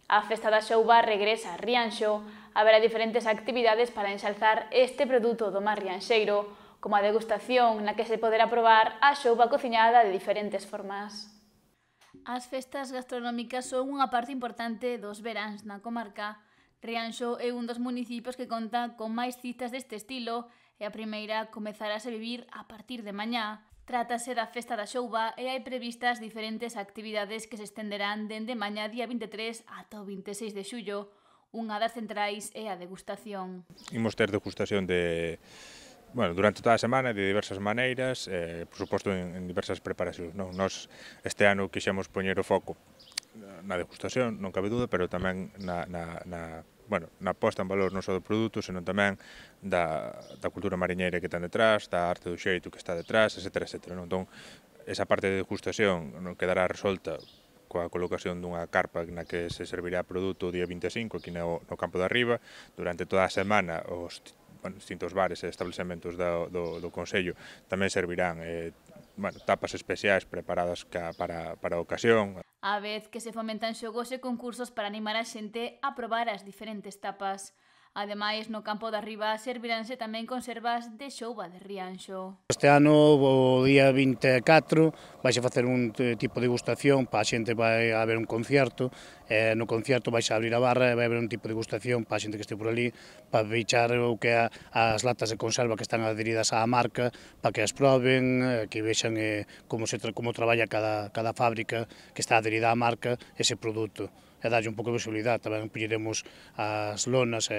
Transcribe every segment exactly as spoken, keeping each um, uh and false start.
A Festa da Xouba regresa a Rianxo. Haberá diferentes actividades para enxalzar este produto do mar rianxeiro, como a degustación na que se poderá probar a xouba cociñada de diferentes formas. As festas gastronómicas son unha parte importante dos veráns na comarca. Rianxo é un dos municipios que conta con máis citas deste estilo e a primeira comezarase a vivir a partir de mañá. Trátase da Festa da Xouba e hai previstas diferentes actividades que se estenderán dende mañá día vinte e tres ata o vinte e seis de xullo. Unha das centrais é a degustación. Imos ter degustación de, bueno, durante toda a semana de diversas maneiras, eh, por suposto en, en diversas preparacións. Non? Nos este ano quixemos poñer o foco na degustación, non cabe dúda, pero tamén na, na, na bueno, na posta en valor non só do produto, senón tamén da, da cultura mariñeira que ten detrás, da arte do xeito que está detrás, etcétera, etcétera. Non? Entón, esa parte de degustación non quedará resolta coa colocación dunha carpa na que se servirá produto o día vinte e cinco aquí no, no campo de arriba. Durante toda a semana os bueno, distintos bares e establecementos do, do, do Concello tamén servirán eh, bueno, tapas especiais preparadas ca, para, para a ocasión. A vez que se fomentan xogos e concursos para animar a xente a probar as diferentes tapas. Ademais, no campo de arriba serviránse tamén conservas de xouba de Rianxo. Este ano, o día vinte e catro, vais a facer un tipo de degustación, para a xente vai a haber un concerto, e no concerto vais a abrir a barra e vai haber un tipo de degustación para a xente que este por ali, para bichar o que é as latas de conserva que están adheridas á marca, para que as proben, que vexan eh, como, se, como traballa cada, cada fábrica que está adherida á marca ese produto. E darlle un pouco de visibilidade. Tamén poñeremos as lonas e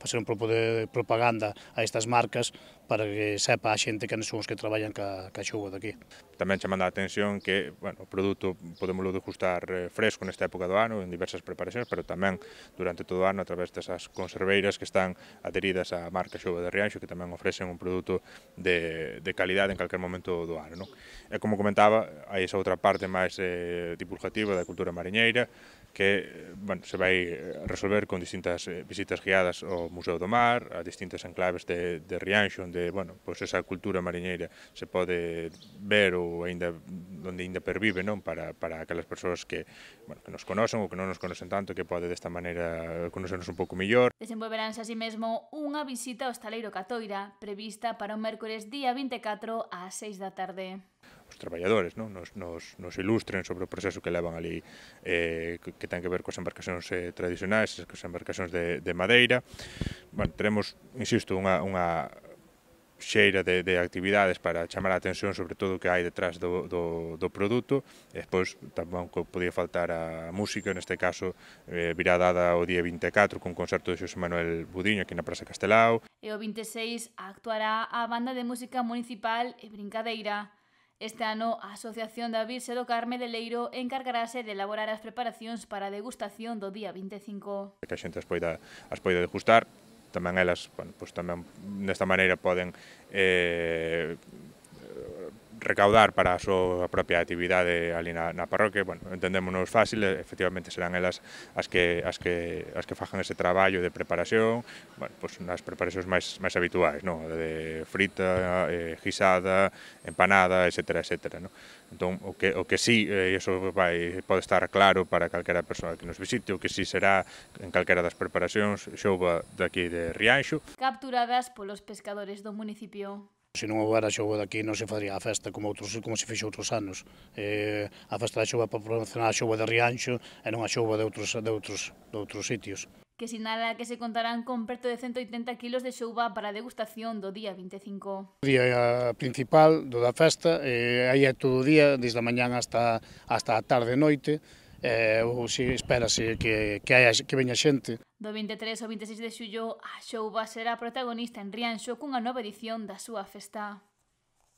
facer un pouco de propaganda a estas marcas para que sepa a xente que son os que traballan ca, ca xouba daqui. Tamén chamando a atención que bueno, o produto podémoslo degustar fresco nesta época do ano en diversas preparacións, pero tamén durante todo o ano a través desas conserveiras que están adheridas á marca Xouba de Rianxo, que tamén ofrecen un produto de, de calidade en calquer momento do ano. Non? E como comentaba, hai esa outra parte máis eh, divulgativa da cultura mariñeira, que bueno, se vai resolver con distintas visitas guiadas ao Museo do Mar, a distintas enclaves de, de Rianxo, onde bueno, pues esa cultura mariñeira se pode ver ou ainda onde ainda pervive, non? Para, para aquelas persoas que, bueno, que nos conocen ou que non nos conocen tanto, que pode desta maneira conocernos un pouco mellor. Desenvolveránse así mesmo unha visita ao Estaleiro Catoira, prevista para o mércores día vinte e catro ás seis da tarde. Os traballadores non? Nos, nos, nos ilustren sobre o proceso que levan ali eh, que, que ten que ver coas embarcacións eh, tradicionais, coas embarcacións de, de madeira. Bueno, teremos, insisto, unha, unha xeira de, de actividades para chamar a atención sobre todo o que hai detrás do, do, do produto. E despois tamén podía faltar a música, neste caso eh, virá dada o día vinte e catro con concerto de Xosé Manuel Budiño aquí na Praza Castelao. E o vinte e seis actuará a Banda de Música Municipal e Brincadeira. Este ano, a Asociación da Virxe do Carme de Leiro encargarase de elaborar as preparacións para a degustación do día vinte e cinco. Que a xente as poida, as poida degustar, tamén elas, bueno, pues tamén desta maneira poden eh, recaudar para a súa propia actividade ali na, na parroquia. Bueno, entendémonos fácil, efectivamente serán elas as que as que as que fajan ese traballo de preparación, bueno, pues nas preparacións máis máis habituais, non? De frita, eh, guisada, empanada, etcétera, etcétera, non? Entón, o que o que sí, e eh, iso vai pode estar claro para calquera persoa que nos visite, o que sí será en calquera das preparacións xouba daqui de Rianxo, capturadas polos pescadores do municipio. Se non houbera xouba daqui non se faría a festa como outros como se fixo outros anos. Eh, a festa da xouba para promocionar a xouba de Rianxo e non a xouba de outros, de outros, de outros sitios. Que sinala que se contarán con perto de cento oitenta kilos de xouba para a degustación do día vinte e cinco. O día principal do da festa, eh, aí é todo o día, desde a mañán hasta, hasta a tarde e noite, eh, ou se espérase que, que, haya, que veña xente. Do vinte e tres ao vinte e seis de xullo, a xouba será protagonista en Rianxo cunha nova edición da súa festa.